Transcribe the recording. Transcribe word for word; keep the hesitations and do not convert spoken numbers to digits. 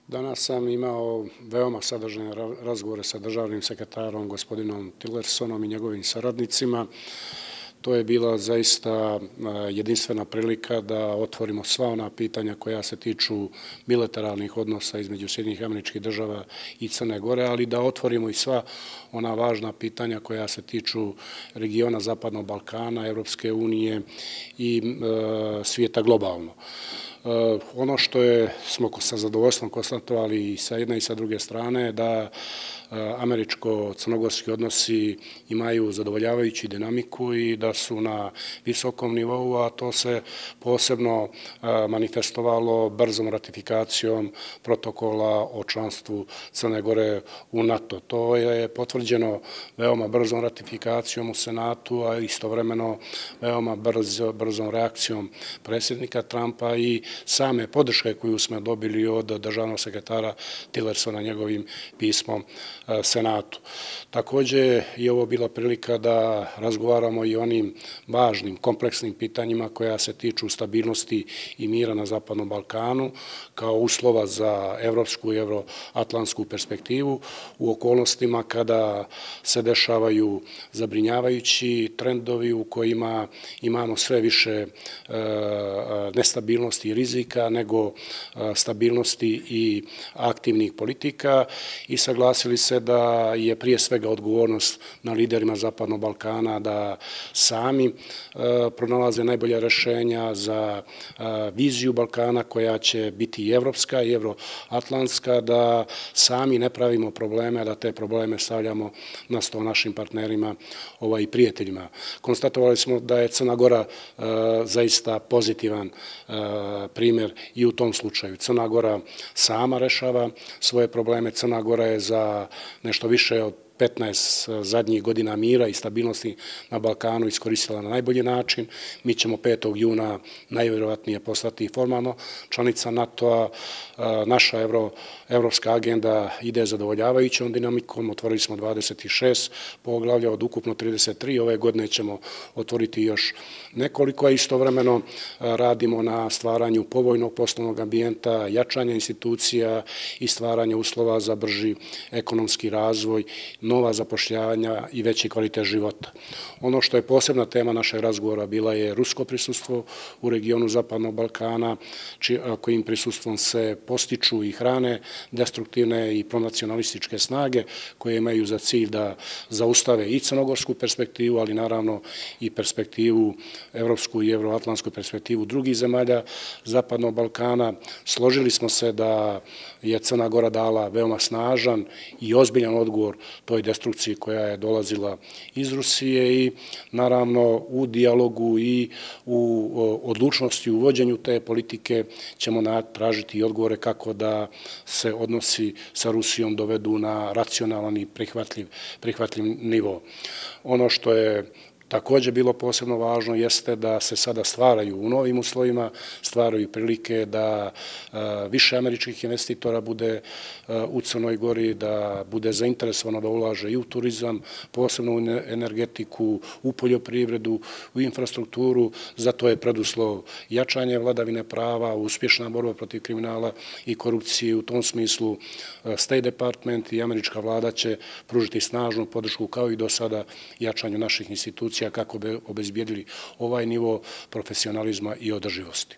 Danas sam imao veoma sadržajne razgovore sa državnim sekretarom gospodinom Tillersonom i njegovim saradnicima. To je bila zaista jedinstvena prilika da otvorimo sva ona pitanja koja se tiču bilateralnih odnosa između Sjedinjenih Američkih Država i Crne Gore, ali da otvorimo i sva ona važna pitanja koja se tiču regiona Zapadnog Balkana, Evropske unije i svijeta globalno. Ono što je, smo sa zadovoljstvom konstatovali i sa jedne i sa druge strane, da američko-crnogorski odnosi imaju zadovoljavajuću dinamiku i da su na visokom nivou, a to se posebno manifestovalo brzom ratifikacijom protokola o članstvu Crne Gore u NATO. To je potvrđeno veoma brzom ratifikacijom u Senatu, a istovremeno veoma brzom reakcijom predsjednika Trumpa i same podrške koju smo dobili od državnog sekretara Tillersona njegovim pismom Senatu. Također je ovo bila prilika da razgovaramo i o onim važnim, kompleksnim pitanjima koja se tiču stabilnosti i mira na Zapadnom Balkanu kao uslova za evropsku i evroatlantsku perspektivu u okolnostima kada se dešavaju zabrinjavajući trendovi u kojima imamo sve više nestabilnosti i rizika nego stabilnosti i aktivnih politika i saglasili se da je prije svega odgovornost na liderima Zapadnog Balkana da sami pronalaze najbolja rešenja za viziju Balkana koja će biti i evropska i evroatlantska, da sami ne pravimo probleme, da te probleme stavljamo na sto našim partnerima i prijateljima. Konstatovali smo da je Crna Gora zaista pozitivan primjer i u tom slučaju. Crna Gora sama rešava svoje probleme. Crna Gora je za nešto više od petnaest zadnjih godina mira i stabilnosti na Balkanu iskoristila na najbolji način. Mi ćemo petog juna najvjerovatnije postati formalno članica NATO-a. Naša evropska agenda ide zadovoljavajućom dinamikom. Otvorili smo dvadeset šest poglavlja od ukupno trideset tri. Ove godine ćemo otvoriti još nekoliko, a istovremeno radimo na stvaranju povoljnog poslovnog ambijenta, jačanja institucija i stvaranja uslova za brži ekonomski razvoj, nova zapošljavanja i veći kvalitet života. Ono što je posebna tema našeg razgovora bila je rusko prisustvo u regionu Zapadnog Balkana, kojim prisustvom se postiču i hrane destruktivne i pronacionalističke snage koje imaju za cilj da zaustave i crnogorsku perspektivu, ali naravno i perspektivu, evropsku i evroatlantsku perspektivu drugih zemalja Zapadnog Balkana. Složili smo se da je Crna Gora dala veoma snažan i ozbiljan odgovor toj destrukciji koja je dolazila iz Rusije i naravno u dijalogu i u odlučnosti u vođenju te politike ćemo tražiti i odgovore kako da se odnosi sa Rusijom dovedu na racionalan i prihvatljiv nivo. Ono što je također bilo posebno važno jeste da se sada stvaraju u novim uslovima, stvaraju prilike da više američkih investitora bude u Crnoj Gori, da bude zainteresovano da ulaže i u turizam, posebno u energetiku, u poljoprivredu, u infrastrukturu. Zato je preduslov jačanje vladavine prava, uspješna borba protiv kriminala i korupcije. U tom smislu State Department i američka vlada će pružiti snažnu podršku kao i do sada jačanju naših institucija kako bi obezbijedili ovaj nivo profesionalizma i održivosti.